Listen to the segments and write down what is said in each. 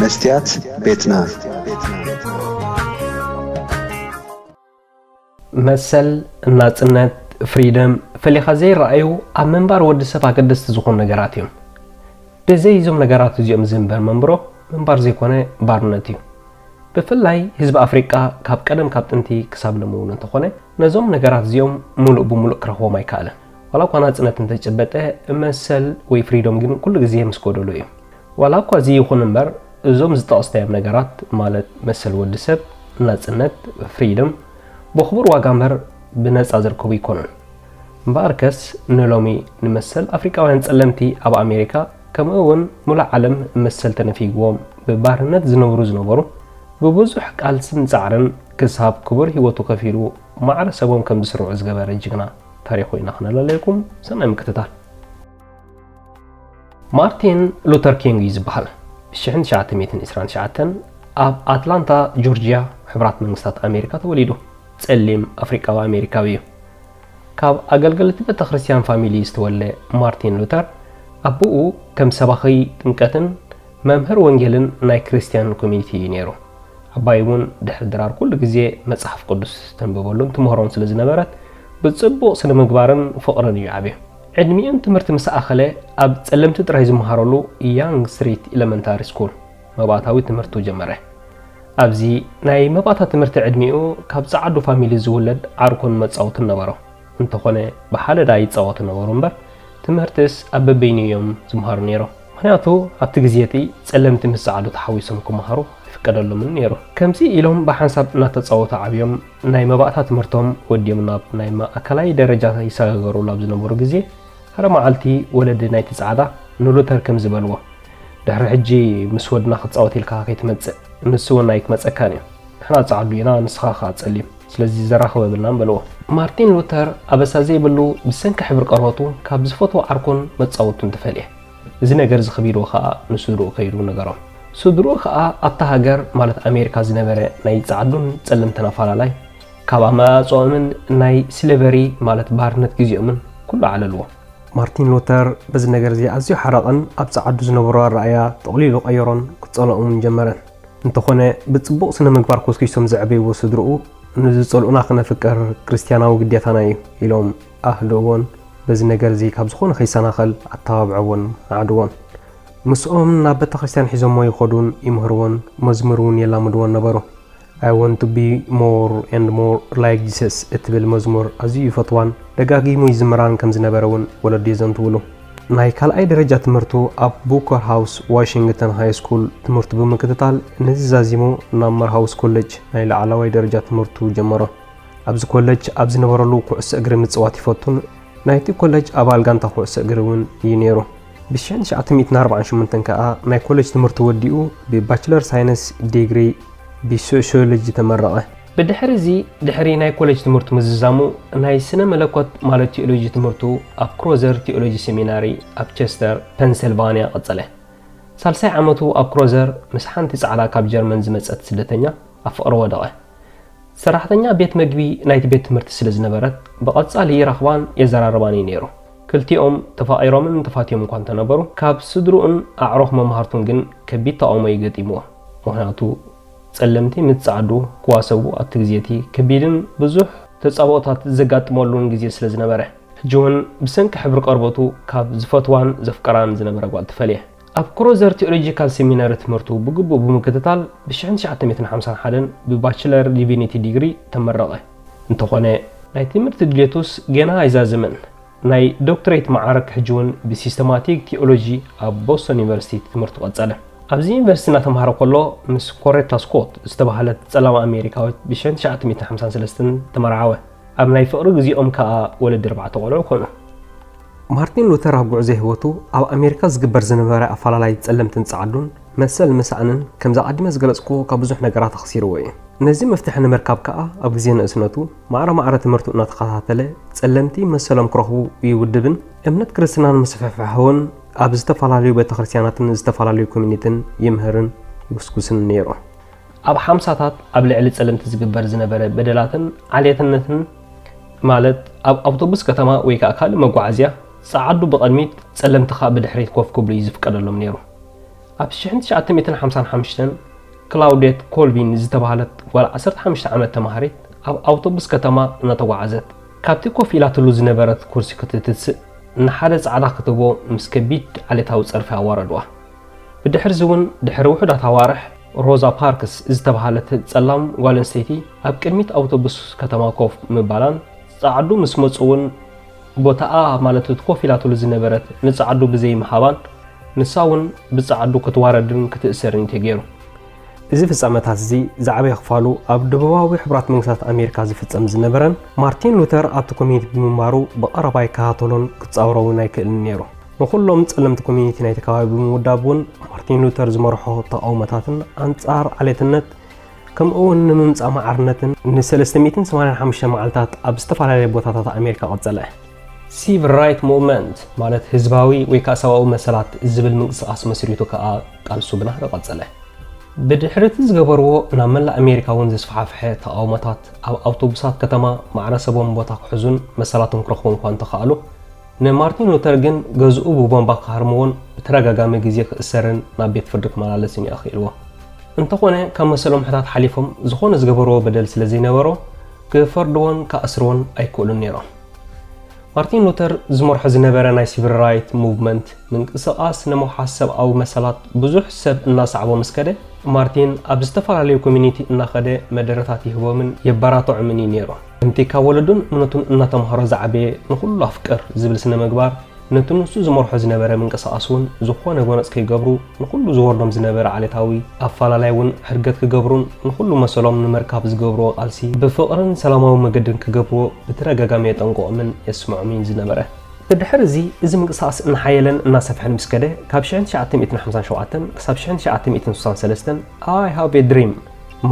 መስትያት ቤትና። መሰል፣ ናጽነት፣ ፍሪደም ፈሊኻ ዘይረኣዩ ኣብ ምንባር ወዲ ሰብ ኣገደስቲ ዝኾኑ ነገራት እዮም። ብዘይ እዞም ነገራት እዚኦም ዝንበር መንብሮ ምንባር ዘይኮነ ባርነት እዩ። ብፍላይ ህዝቢ ኣፍሪቃ ካብ ቀደም ካብ ጥንቲ ክሳብ ሎሚ እውን እንተኾነ ነዞም ነገራት እዚኦም ሙሉእ ብሙሉእ ክረኽቦም ኣይከኣለን። ዋላ እኳ ናጽነት እንተጨበጠ መሰል ወይ ፍሪዶም ግን ኩሉ ግዜ ምስ ጎደሎ እዩ። ዋላ እኳ እዚ ይኹን እምበር እዞም ዝጠቐስናዮም ነገራት ማለት መሰል ወዲ ሰብ፣ ናጽነት፣ ፍሪደም ብኽቡር ዋጋ እምበር ብነጻ ዝርከቡ ኣይኮኑን። እምበኣርከስ ንሎሚ ንመሰል ኣፍሪቃውያን ጸለምቲ ኣብ ኣሜሪካ ከምኡ እውን ሙሉእ ዓለም መሰል ተነፊግዎም ብባርነት ዝነብሩ ዝነበሩ ብብዙሕ ቃልስን ጻዕርን ክሳብ ክቡር ህይወቱ ከፊሉ ማዕረ ሰቦም ከም ዝስርዑ ዝገበረ ጅግና ታሪኹ ኢና ክነለለየኩም። ሰናይ ምክትታል። ማርቲን ሉተር ኪንግ እዩ ዝበሃል። ብ1929 ኣብ ኣትላንታ ጆርጂያ ሕቡራት መንግስታት ኣሜሪካ ተወሊዱ። ጸሊም ኣፍሪቃዊ ኣሜሪካዊ እዩ። ካብ ኣገልገልቲ ቤተ ክርስቲያን ፋሚሊ ዝተወልደ ማርቲን ሉተር ኣቦኡ ከም ሰባኺ ጥምቀትን መምህር ወንጌልን ናይ ክርስቲያን ኮሚኒቲ እዩ ነይሩ። ዓባይ እውን ድሕሪ ድራር ኩሉ ግዜ መጽሓፍ ቅዱስ ተንብበሉን ትምህሮን ስለ ዝነበረት ብጽቡቕ ስነ ምግባርን ፍቕርን እዩ ዓብዩ። ዕድሚኡን ትምህርቲ ምስ ኣኸለ ኣብ ጸለምቲ ጥራይ ዝመሃረሉ ያንግ ስትሪት ኤለመንታሪ ስኩል መባእታዊ ትምህርቱ ጀመረ። ኣብዚ ናይ መባእታ ትምህርቲ ዕድሚኡ ካብ ጸዓዱ ፋሚሊ ዝውለድ ዓርኩን መጻወትን ነበሮ። እንተኾነ ብሓደዳ ይጻወቱ ነበሩ እምበር ትምህርትስ ኣብ በበይኑ እዮም ዝምሃሩ ነይሮም። ምኽንያቱ ኣብቲ ግዜ እቲ ጸለምቲ ምስ ጸዓዱ ተሓዊሶም ክመሃሩ ኣይፍቀደሎምን ነይሩ። ከምዚ ኢሎም ብሓንሳብ እናተጻወቱ ዓብዮም ናይ መባእታ ትምህርቶም ወዲኦም ናብ ናይ ማእከላይ ደረጃ ይሰጋገሩ ኣብ ዝነበሩ ግዜ ሓደ መዓልቲ ወለዲ ናይቲ ጸዓዳ ንሉተር ከምዚ በልዎ፣ ድሕሪ ሕጂ ምስ ወድና ክትጻወት ኢልካ ከይትመጽእ፣ ንሱ እውን ኣይክመጸካን እዩ። ንሕና ጸዓዱ ኢና፣ ንስኻ ከኣ ጸሊም፣ ስለዚ ዘራኽብ የብልናን በልዎ። ማርቲን ሉተር ኣበሳ ዘይብሉ ብሰንኪ ሕብሪ ቆርበቱ ካብ ዝፈትዎ ዓርኩን መጻወቱን ተፈልየ። እዚ ነገር እዚ ከቢድዎ ከኣ ንስድርኡ ከይዱ ነገሮም። ስድርኡ ከኣ ኣብታ ሃገር ማለት ኣሜሪካ ዝነበረ ናይ ጸዓዱን ጸለምትን ኣፈላላይ ካብ ኣመጻጽኦምን ናይ ስሌቨሪ ማለት ባርነት ግዜኦምን ኩሉ ኣዕለልዎ። ማርቲን ሉተር በዚ ነገር እዚ ኣዝዩ ሓረቐን ኣብ ጸዓዱ ዝነበሮ ኣረኣእያ ጠቕሊሉ ቀየሮን ክጸልኦምን ጀመረ። እንተኾነ ብጽቡቕ ስነ ምግባር ኮስኪሶም ዘዕበይዎ ስድርኡ ንዝጸልኡና ክነፍቅር ክርስትያናዊ ግዴታና እዩ ኢሎም ኣህድእዎን በዚ ነገር እዚ ካብ ዝኾነ ከይሰናኸል ኣተባብዐዎን ኣዕድዎን። ምስኦም ናብ ቤተ ክርስትያን ሒዞሞ ይኸዱን ይምህርዎን መዝሙር እውን የላምድዎን ነበሩ። I want to be more and more like Jesus እትብል መዝሙር ኣዝዩ ይፈትዋን ደጋጊሙ ይዝምራን ከም ዝነበረ እውን ወለዱ የዘንትውሉ። ናይ ካልኣይ ደረጃ ትምህርቱ ኣብ ቡከር ሃውስ ዋሽንግተን ሃይ ስኩል ትምህርቱ ብምክትታል ነዚ ዛዚሙ ናብ መርሃውስ ኮሌጅ ናይ ላዕለዋይ ደረጃ ትምህርቱ ጀመሮ። ኣብዚ ኮሌጅ ኣብ ዝነበረሉ ኩዕሶ እግሪ ምጽዋት ይፈቱን ናይቲ ኮሌጅ ኣባል ጋንታ ኩዕሶ እግሪ እውን እዩ ነይሩ። ብ1948 ከኣ ናይ ኮሌጅ ትምህርቱ ወዲኡ ብባችለር ሳይንስ ዲግሪ ብሶሽዮሎጂ ተመረቐ። ብድሕሪ እዚ ድሕሪ ናይ ኮሌጅ ትምህርቱ ምዝዛሙ ናይ ስነ መለኮት ማለት ቲኦሎጂ ትምህርቱ ኣብ ክሮዘር ቲኦሎጂ ሴሚናሪ ኣብ ቸስተር ፐንሰልቫንያ ቀጸለ። ሳልሳይ ዓመቱ ኣብ ክሮዘር ምስ ሓንቲ ጻዕዳ ካብ ጀርመን ዝመጸት ስደተኛ ኣብ ፍቕሪ ወደቐ። ሰራሕተኛ ቤት መግቢ ናይቲ ቤት ትምህርቲ ስለ ዝነበረት ብቐጻሊ ይረኽባን የዘራርባን እዩ ነይሩ። ክልቲኦም ተፋቒሮምን ተፋትዮም እኳ እንተነበሩ ካብ ስድርኡን ኣዕሩኽ መማህርቱን ግን ከቢድ ተቓውሞ እዩ ገጢምዎ። ምኽንያቱ ጸለምቲ ምስ ጸዓዱ ክዋሰቡ ኣብቲ ግዜ እቲ ከቢድን ብዙሕ ተጻብኦታት ዘጋጥመሉን ግዜ ስለ ዝነበረ። ሕጂ እውን ብሰንኪ ሕብሪ ቆርበቱ ካብ ዝፈትዋን ዘፍቅራን ዝነበረ ጓል ተፈልየ። ኣብ ክሮዘር ቲኦሎጂካል ሴሚናሪ ትምህርቱ ብግቡእ ብምክትታል ብ1951 ብባችለር ዲቪኒቲ ዲግሪ ተመረቐ። እንተኾነ ናይ ትምህርቲ ድሌቱስ ገና ኣይዛዘመን። ናይ ዶክትሬት መዓርግ ሕጂ እውን ብሲስተማቲክ ቲኦሎጂ ኣብ ቦስቶን ዩኒቨርሲቲ ትምህርቱ ቀጸለ። ኣብዚ ዩኒቨርሲቲ እናተምሃረ ከሎ ምስ ኮሬታ ስኮት ዝተባህለት ጸላም ኣሜሪካዊት ብ1953 ተመርዓወ። ኣብ ናይ ፍቕሪ ግዜኦም ከኣ ወለዲ ኣርባዕተ ቆልዑ ኮኑ። ማርቲን ሉተር ኣብ ጉዕዞ ህይወቱ ኣብ ኣሜሪካ ዝግበር ዝነበረ ኣፈላላይ ጸለምትን ጸዓዱን መሰል ምሳእንን ከምዚ ኣቐዲመ ዝገለጽኩዎ ካብ ብዙሕ ነገራት ኣኽሲርዎ እዩ። ነዚ መፍትሒ ንምርካብ ከኣ ኣብ ግዜ ንእስነቱ ማዕረ ማዕረ ትምህርቱ እናተኸታተለ ጸለምቲ መሰሎም ክረኽቡ ይውድብን እምነት ክርስትናን ምስፍሕፋሕውን ኣብ ዝተፈላለዩ ቤተክርስትያናትን ዝተፈላለዩ ኮሚኒትን ይምህርን ይጉስጉስን ነይሩ። ኣብ ሓምሳታት ኣብ ልዕሊ ጸለምቲ ዝግበር ዝነበረ በደላትን ዓሌትነትን ማለት ኣብ ኣውቶቡስ ከተማ ወይ ከኣ ካልእ መጓዓዝያ ጸዓዱ ብቐድሚት ጸለምቲ ከኣ ብድሕሪት ኮፍ ክብሉ እዩ ዝፍቀደሎም ነይሩ። ኣብ ሽሕን ትሽዓተ ሚእትን ሓምሳን ሓሙሽተን ክላውዴት ኮልቪን ዝተባህለት ጓል ዓሰርተ ሓሙሽተ ዓመት ተማሃሪት ኣብ ኣውቶቡስ ከተማ እናተጓዓዘት፣ ካብቲ ኮፍ ኢላትሉ ዝነበረት ኩርሲ ክትትስእ፣ ንሓደ ጻዕዳ ክትቦ ምስ ከቢድ ዓሌታዊ ጸርፊ ኣዋረድዋ። ብድሕርዚ እውን፣ ድሕሪ ውሑዳት ኣዋርሕ፣ ሮዛ ፓርክስ ዝተባህለት ጸላም ጓል ኣንስተይቲ ኣብ ቅድሚት ኣውቶቡስ ከተማ ኮፍ ምባላን፣ ጻዕዱ ምስ መጹ እውን፣ ቦታኣ፣ ማለት እቲ ኮፍ ኢላትሉ ዝነበረት፣ ንጻዕዱ ብዘይምሃባን፣ ንሳ እውን ብጻዕዱ ክትዋረድን ክትእሰርን እዩ ተገይሩ። እዚ ፍጻመታት እዚ ዝዓበየ ክፋሉ ኣብ ደቡባዊ ሕቡራት መንግስታት ኣሜሪካ ዝፍጸም ዝነበረን፣ ማርቲን ሉተር ኣብቲ ኮሚኒቲ ብምንባሩ ብቐረባ ይከታተሎን ክጻወሮ እውን ኣይክእልን ነይሩ። ንኹሎም ጸለምቲ ኮሚኒቲ ናይቲ ከባቢ ብምውዳብ እውን፣ ማርቲን ሉተር ዝመርሖ ተቓውሞታትን ኣንጻር ዓሌትነት፣ ከምኡ እውን ንምምጻእ ማዕርነትን ንሰለስተ ሚእትን ሰማንያን ሓሙሽተ መዓልታት ኣብ ዝተፈላለየ ቦታታት ኣሜሪካ ቀጸለ። ሲቪል ራይት ሙቭመንት፣ ማለት ህዝባዊ ወይ ከዓ ሰብኣዊ መሰላት ዝብል ምንቅስቃስ መስሪቱ ከዓ ቃልሱ ብናህሪ ቀጸለ። ብድሕሪ እቲ ዝገበርዎ ናብ መላእ ኣሜሪካ እውን ዝስፋሕፍሐ ተቓውሞታት፣ ኣብ ኣውቶቡሳት ከተማ ማዕረ ሰቦም ቦታ ክሕዙን መሰላቶም ክረኽቡ እኳ እንተኸኣሉ፣ ንማርቲን ሉተር ግን ገዝኡ ብቦምባ ክሃርምዎን ብተደጋጋሚ ግዜ ክእሰርን ናብ ቤት ፍርዲ ክመላለስን እዩ ኣኽኢልዎ። እንተኾነ፣ ካብ መሰሎም ሕታት ሓሊፎም ዝኾነ ዝገበርዎ በደል ስለ ዘይነበሮ፣ ክፈርድዎን ክኣስርዎን ኣይክእሉን ነይሮም። ማርቲን ሉተር ዝመርሖ ዝነበረ ናይ ሲቪል ራይት ሙቭመንት ምንቅስቃስ ንምውሓስ ሰብኣዊ መሰላት ብዙሕ ሰብ እናሰዓቦ ምስ ከደ፣ ማርቲን ኣብ ዝተፈላለዩ ኮሚኒቲ እናኸደ መደረታት ይህቦምን የበራትዖምን እዩ ነይሩ። ከምቲ ካብ ወለዱን እምነቱን እናተምሃሮ ዝዓበየ ንኹሉ ኣፍቅር ዝብል ስነ ምግባር፣ ነቲ ንሱ ዝመርሖ ዝነበረ ምንቅስቃስ እውን ዝኾነ ጎነጽ ከይገብሩ፣ ንኹሉ ዝወርዶም ዝነበረ ዓሌታዊ ኣፈላላይ እውን ሕርገት ክገብሩን ንኹሉ መሰሎም ንምርካብ ዝገብርዎ ቃልሲ ብፍቕርን ሰላማዊ መገድን ክገብርዎ ብተደጋጋሚ የጠንቅቖምን የስምዖምን ዝነበረ። ብድሕሪ እዚ፣ እዚ ምንቅስቃስ እናሓየለን እናሰፍሐን ምስ ከደ፣ ካብ ሽሕን ትሽዓተ ሚእትን ሓምሳን ሸውዓተን ክሳብ ሽሕን ትሽዓተ ሚእትን ስሳን ሰለስተን፣ I have a dream፣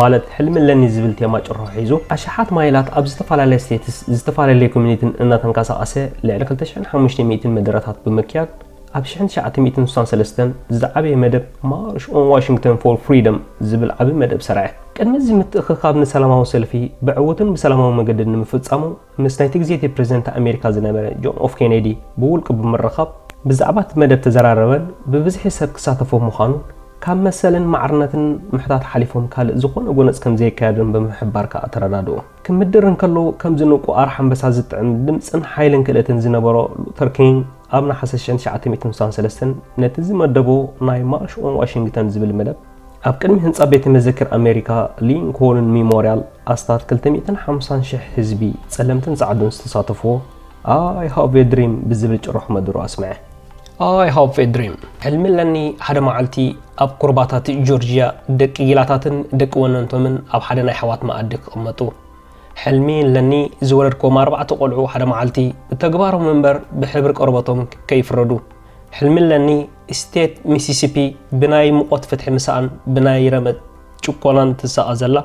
ማለት ሕልሚ ኣለኒ ዝብል ቴማ ጭርሖ ሒዙ፣ ኣሽሓት ማይላት ኣብ ዝተፈላለየ ስቴትስ ዝተፈላለየ ኮሚኒቲን እናተንቀሳቐሰ፣ ልዕሊ ክልተ ሽሕን ሓሙሽተ ሚእትን መደረታት ብምክያድ፣ ኣብ ሽሕን ትሽዓተ ሚእትን ስሳን ሰለስተን ዝዓበየ መደብ March on Washington for Freedom ዝብል ዓቢ መደብ ሰርዐ። ቅድሚ እዚ ምትእኽኻብ ንሰላማዊ ሰልፊ ብዕዉትን ብሰላማዊ መገድን ንምፍጻሙ፣ ምስ ናይቲ ግዜቲ ፕሬዝደንት ኣሜሪካ ዝነበረ ጆን ኤፍ ኬኔዲ ብውልቂ ብምርኻብ፣ ብዛዕባ እቲ መደብ ተዘራረበን ብብዝሒ ሰብ ክሳተፎ ምዃኑን፣ ካብ መሰልን ማዕርነትን ምሕታት ሓሊፎም ካልእ ዝኾነ ጎነጽ ከም ዘየካየዱን ብምሕባር ከኣ ተረዳድኡ። ክምድር እንከሎ፣ ከምዚ ንቁ ኣርሓ ኣንበሳ ዝጥዕም ድምጽን ሓይልን ክእለትን ዝነበሮ ሉተር ኪንግ፣ ኣብ ነሓሰ ሽሕን ትሽዓተ ሚእትን ስሳን ሰለስተን ነቲ ዝመደቦ ናይ ማርሽ ኦን ዋሽንግተን ዝብል መደብ፣ ኣብ ቅድሚ ህንጻ ቤተ መዘክር ኣሜሪካ ሊንኮልን ሚሞርያል፣ ኣስታት ክልተ ሚእትን ሓምሳን ሽሕ ህዝቢ፣ ጸለምትን ጻዕዱን ዝተሳተፍዎ፣ I have a dream ብዝብል ጭርሖ መደሩ ኣስምዐ። I have a dream፣ ሕልሚ ኣለኒ፣ ሓደ መዓልቲ ኣብ ኩርባታት ጆርጅያ ደቂ ጊላታትን ደቂ ወነንቶምን ኣብ ሓደ ናይ ኣሕዋት መኣዲ ክቕመጡ። ሕልሚ ኣለኒ፣ ዝወለድክዎም ኣርባዕተ ቆልዑ ሓደ መዓልቲ ብተግባሮም እምበር ብሕብሪ ቆርበቶም ከይፍረዱ። ሕልሚ ኣለኒ፣ ስቴት ሚሲሲፒ ብናይ ሙቐት ፍትሒ ምሳኣን ብናይ ረመጽ ጭቆናን ትሳቐ ዘላ፣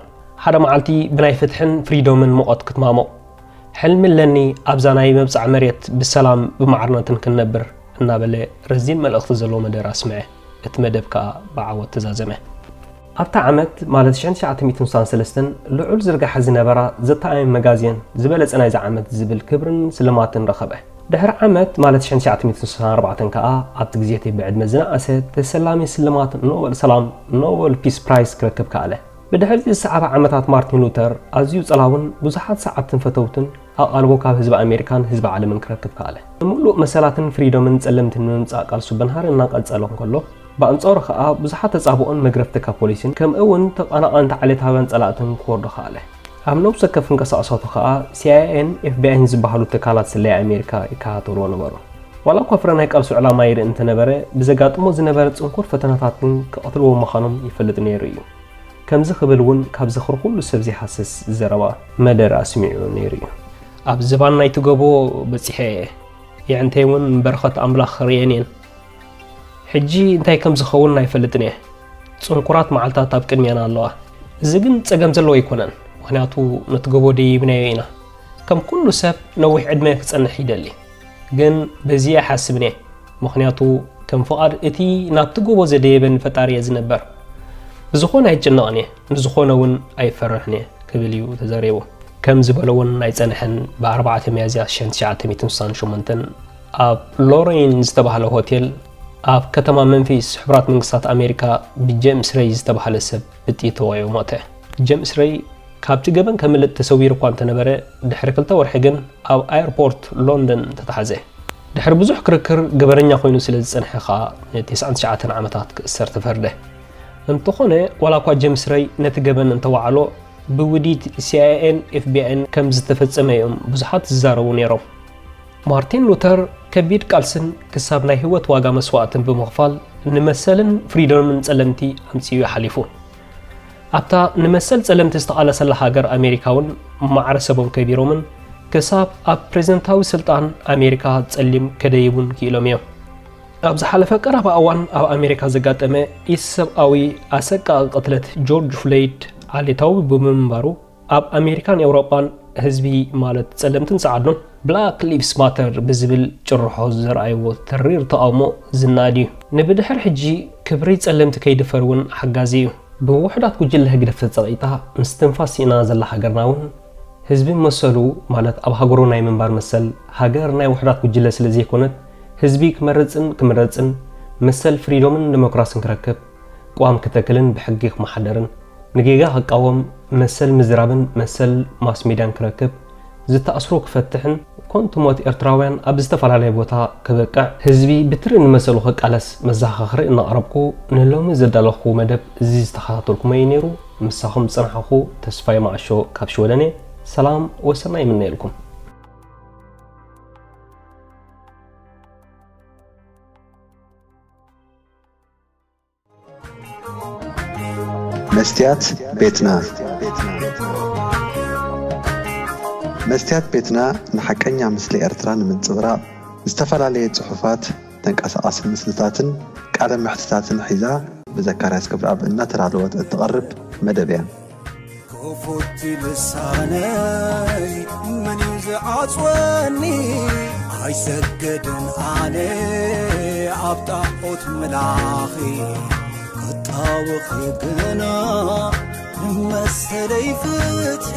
ሓደ መዓልቲ ብናይ ፍትሕን ፍሪዶምን ሙቐት ክትማሞቕ። ሕልሚ ኣለኒ፣ ኣብዛ ናይ መብጽዓ መሬት ብሰላም ብማዕርነትን ክንነብር፣ እናበለ ረዚን መልእኽቲ ዘለዎ መደረ ኣስምዐ። እቲ መደብ ከኣ ብዓወት ተዛዘመ። ኣብታ ዓመት፣ ማለት ሽሕን ትሽዓተ ሚእትን ስሳን ሰለስተን፣ ልዑል ዝርጋሐ ዝነበራ ዘ ታይም መጋዜን ዝበለጸ ናይዛ ዓመት ዝብል ክብርን ስልማትን ረኸበ። ድሕሪ ዓመት፣ ማለት ሽሕን ትሽዓተ ሚእትን ስሳን ኣርባዕተን ከኣ፣ ኣብቲ ግዜ እቲ ብዕድመ ዝነኣሰ ተሰላሚ ስልማት ኖበል ሰላም፣ ኖበል ፒስ ፕራይስ፣ ክረክብ ከኣለ። ብድሕሪ እቲ ዝሰዓበ ዓመታት፣ ማርቲን ሉተር ኣዝዩ ጸላውን ብዙሓት ሰዓብትን ፈተውትን ኣቓልቦ ካብ ህዝቢ ኣሜሪካን ህዝቢ ዓለምን ክረክብ ከኣለ። ንምሉእ መሰላትን ፍሪዶምን ጸለምትን ንምምጻእ ቃልሱ ብንሃሪ እናቐጸለ እንከሎ፣ ብኣንጻሩ ከኣ ብዙሓት ተጻብኦን መግረፍቲ ካብ ፖሊስን ከምኡ እውን ተቐናቐንቲ ዓሌታውያን ጸላእትን ክወርዶ ከኣለ። ኣብ ነብሲ ወከፍ እንቅስቃሳቱ ከኣ ሲ ኣይ ኤን ኤፍ ቢ ኣይን ዝበሃሉ ትካላት ስለያ ኣሜሪካ ይከታተልዎ ነበሩ። ዋላ እኳ ፍረ ናይ ቃልሱ ዕላማ ይርኢ እንተነበረ፣ ብዘጋጥሞ ዝነበረ ጽንኩር ፈተናታት ግን ክቐትልዎ ምዃኖም ይፈልጥ ነይሩ እዩ። ከምዚ ክብል እውን ካብ ዝኽሪ ኩሉ ሰብ ዘይሃስስ ዘረባ መደረ ኣስሚዑ ነይሩ እዩ። ኣብ ዝባን ናይቲ ጎቦ በጺሐ እየ። የዕንተይ እውን በረኸት ኣምላኽ ርእየን እየን። ሕጂ እንታይ ከም ዝኸውን ኣይፈልጥን እየ። ጽንኩራት መዓልታት ኣብ ቅድሜና ኣለዋ። እዚ ግን ጸገም ዘለዎ ኣይኮነን፣ ምኽንያቱ ነቲ ጎቦ ደይብናዮ ኢና። ከም ኩሉ ሰብ ነዊሕ ዕድመ ክጸንሕ ይደሊ። ግን በዚ ኣይሓስብን እየ፣ ምኽንያቱ ከም ፍቓድ እቲ ናብቲ ጎቦ ዘደየበኒ ፈጣሪ እየ ዝነበር። ብዝኾነ ኣይጭነቕን እየ፣ ንዝኾነ እውን ኣይፈርሕን እየ ክብል እዩ ተዛሪቡ። ከም ዝበሎ እውን ኣይጸንሐን፣ ብ ኣርባዕተ ሚያዝያ ሽሕን ትሽዓተ ሚእትን ስሳን ሸሞንተን ኣብ ሎሬን ዝተባህለ ሆቴል ኣብ ከተማ መንፊስ ሕቡራት መንግስታት ኣሜሪካ ብጀምስ ረይ ዝተባህለ ሰብ ብጥይት ተወቂዑ ሞተ። ጀምስ ረይ ካብቲ ገበን ከምልጥ ተሰዊሩ እኳ እንተነበረ፣ ድሕሪ ክልተ ወርሒ ግን ኣብ ኣየርፖርት ሎንደን ተታሕዘ። ድሕሪ ብዙሕ ክርክር፣ ገበነኛ ኮይኑ ስለ ዝጸንሐ ከኣ ን ትሽዓተ ዓመታት ክእሰር ተፈርደ። እንተኾነ፣ ዋላ እኳ ጀምስ ረይ ነቲ ገበን እንተወዓሎ፣ ብውዲት ሲ ኣይ ኤን ኤፍ ቢ ኣይን ከም ዝተፈጸመ እዮም ብዙሓት ዝዛረቡ ነይሮም። ማርቲን ሉተር ከቢድ ቃልስን ክሳብ ናይ ህይወት ዋጋ መስዋእትን ብምኽፋል፣ ንመሰልን ፍሪዶምን ጸለምቲ ኣምጺኡ ሓሊፉ። ኣብታ ንመሰል ጸለምቲ ዝተቓለሰላ ሃገር ኣሜሪካ እውን ማዕረ ሰቦም ከቢሮምን ክሳብ ኣብ ፕሬዝደንታዊ ስልጣን ኣሜሪካ ጸሊም ከደይቡን ክኢሎም እዮም። ኣብ ዝሓለፈ ቀረባ እዋን ኣብ ኣሜሪካ ዘጋጠመ ኢሰብኣዊ ኣሰቃቒ ቅትለት ጆርጅ ፍሎይድ ዓሌታዊ ብምንባሩ፣ ኣብ ኣሜሪካን ኤውሮጳን ህዝቢ፣ ማለት ጸለምትን ጸዓዱን፣ ብላክ ሊቭስ ማተር ብዝብል ጭርሖ ዘርኣይዎ ተሪር ተቓውሞ ዝነኣድ እዩ። ንብድሕር ሕጂ ክብሪ ጸለምቲ ከይድፈር እውን ሓጋዚ እዩ። ብውሑዳት ጉጅለ ህግደፍ ተጸቒጣ ምስትንፋስ ስኢና ዘላ ሃገርና እውን፣ ህዝቢ መሰሉ፣ ማለት ኣብ ሃገሩ ናይ ምንባር መሰል፣ ሃገር ናይ ውሑዳት ጉጅለ ስለ ዘይኮነት፣ ህዝቢ ክመርጽን ክምረጽን፣ መሰል ፍሪዶምን ዲሞክራስን ክረክብ፣ ቅዋም ክተክልን ብሕጊ ክመሓደርን፣ ንጌጋ ክቃወም፣ መሰል ምዝራብን መሰል ማስ ሜድያን ክረክብ፣ ዝተኣስሩ ክፈትሕን፣ ኮንቱ ሞት ኤርትራውያን ኣብ ዝተፈላለየ ቦታ ክበቅዕ፣ ህዝቢ ብትሪ ንመሰሉ ክቃለስ መዘኻኸሪ እናቕረብኩ፣ ንሎሚ ዘዳለኹ መደብ እዚ ዝተኸታተልኩሞ እዩ ነይሩ። ምሳኹም ዝጸናሕኹ ተስፋይ ማዕሾ ካብ ሽወደን እየ። ሰላም ወሰናይ ይምነየልኩም። መስትያት ቤትና። መስትያት ቤትና ንሓቀኛ ምስሊ ኤርትራ ንምንጽብራቕ፣ ዝተፈላለየ ጽሑፋት፣ ተንቀሳቓሲ ምስልታትን ቃለ መሕትታትን ሒዛ ብዘካርያስ ገብረኣብ እናተዳለወት እትቐርብ መደብ እያ። ክፉት ልሳነይ መን እዩ ዝዓጽወኒ? ኣይሰግድን ኣነ ኣብ ጣዖት ምላኺ፣ ክጣወኺ ግና ንመሰለይ ፍትሒ።